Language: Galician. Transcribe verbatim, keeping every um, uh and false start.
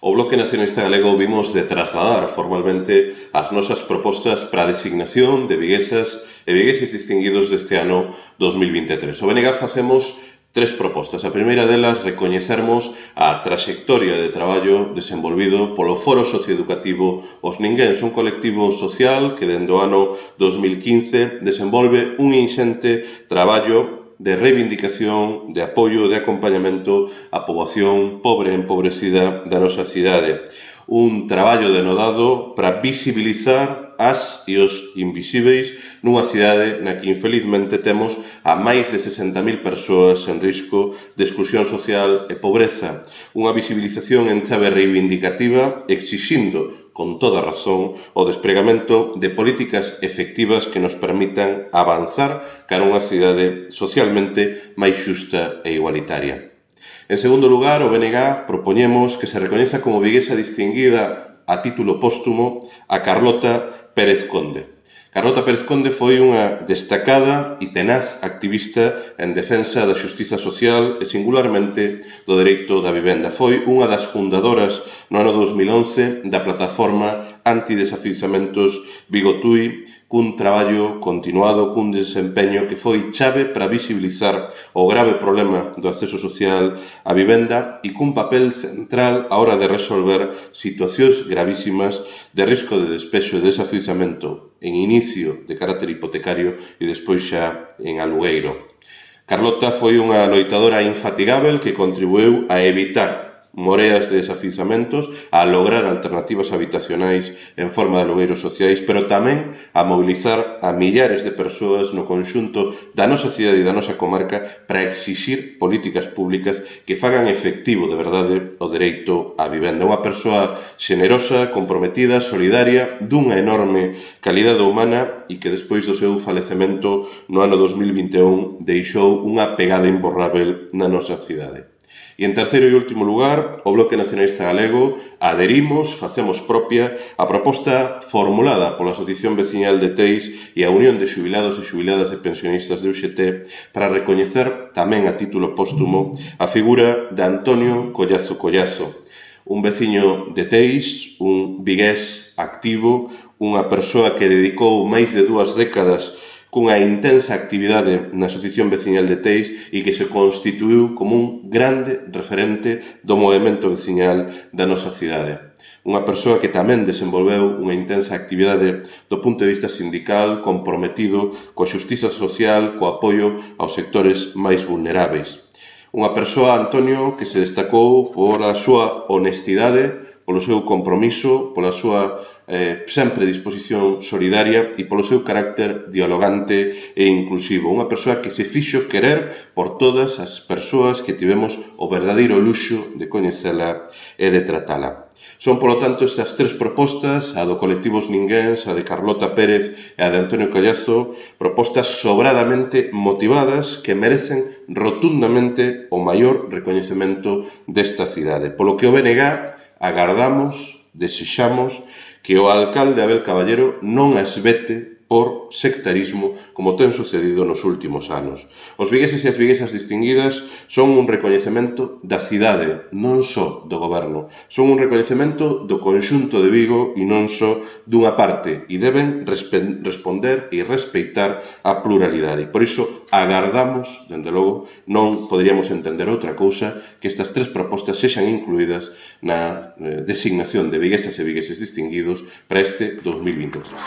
O Bloque Nacionalista Galego vimos de trasladar formalmente as nosas propostas para a designación de viguesas e vigueses distinguidos deste ano dos mil vinte e tres. O B N G facemos tres propostas. A primeira delas, recoñecermos a traxectoria de traballo desenvolvido polo Foro Socioeducativo Os Ninguéns, un colectivo social que dende o ano dos mil quince desenvolve un inxente traballo de reivindicación, de apoio, de acompañamento á poboación pobre e empobrecida da nosa cidade. Un traballo denodado para visibilizar as e os invisíveis nunha cidade na que infelizmente temos a máis de sesenta mil persoas en risco de exclusión social e pobreza. Unha visibilización en chave reivindicativa exixindo, con toda razón, o despregamento de políticas efectivas que nos permitan avanzar cara a unha cidade socialmente máis xusta e igualitaria. En segundo lugar, o B N G propoñemos que se recoñeza como viguesa distinguida a título póstumo a Carlota Pérez Conde. Carlota Pérez Conde foi unha destacada e tenaz activista en defensa da xustiza social e singularmente do dereito da vivenda. Foi unha das fundadoras no ano dos mil once da plataforma antidesafiuzamentos Bigotui, cun traballo continuado, cun desempeño que foi chave para visibilizar o grave problema do acceso social á vivenda e cun papel central a hora de resolver situacións gravísimas de risco de despexo e desafiuzamento en inicio de carácter hipotecario e despois xa en alugueiro. Carlota foi unha loitadora infatigável que contribuiu a evitar moreas de desafiuzamentos, a lograr alternativas habitacionais en forma de alugueiros sociais, pero tamén a mobilizar a millares de persoas no conxunto da nosa cidade e da nosa comarca para exixir políticas públicas que fagan efectivo de verdade o dereito á vivenda. Unha persoa xenerosa, comprometida, solidaria, dunha enorme calidade humana e que despois do seu falecemento no ano dos mil vinte e un deixou unha pegada imborrável na nosa cidade. E en terceiro e último lugar, o Bloque Nacionalista Galego adherimos, facemos propia a proposta formulada pola Asociación Veciñal de Teis e a Unión de Xubilados e Xubiladas e Pensionistas de U X T para recoñecer tamén a título póstumo a figura de Antonio Collazo Collazo, un veciño de Teis, un vigués activo, unha persoa que dedicou máis de dúas décadas cunha intensa actividade na Asociación Veciñal de Teis e que se constituiu como un grande referente do movemento veciñal da nosa cidade. Unha persoa que tamén desenvolveu unha intensa actividade do punto de vista sindical, comprometido coa xustiza social, co apoio aos sectores máis vulneráveis. Unha persoa, Antonio, que se destacou por a súa honestidade, polo seu compromiso, pola súa eh, sempre disposición solidaria e polo seu carácter dialogante e inclusivo. Unha persoa que se fixo querer por todas as persoas que tivemos o verdadeiro luxo de coñecela e de tratala. Son, polo tanto, estas tres propostas, a do colectivo Os Ninguéns, a de Carlota Pérez e a de Antonio Collazo, propostas sobradamente motivadas que merecen rotundamente o maior recoñecemento desta cidade. Polo que o B N G agardamos, desexamos, que o alcalde Abel Caballero non as vete por sectarismo como ten sucedido nos últimos anos. Os vigueses e as viguesas distinguidas son un recoñecemento da cidade, non só do goberno. Son un recoñecemento do conxunto de Vigo e non só dunha parte e deben responder e respeitar a pluralidade. Por iso agardamos, dende logo, non poderíamos entender outra cousa que estas tres propostas sexan incluídas na designación de viguesas e vigueses distinguidos para este dos mil vinte e tres.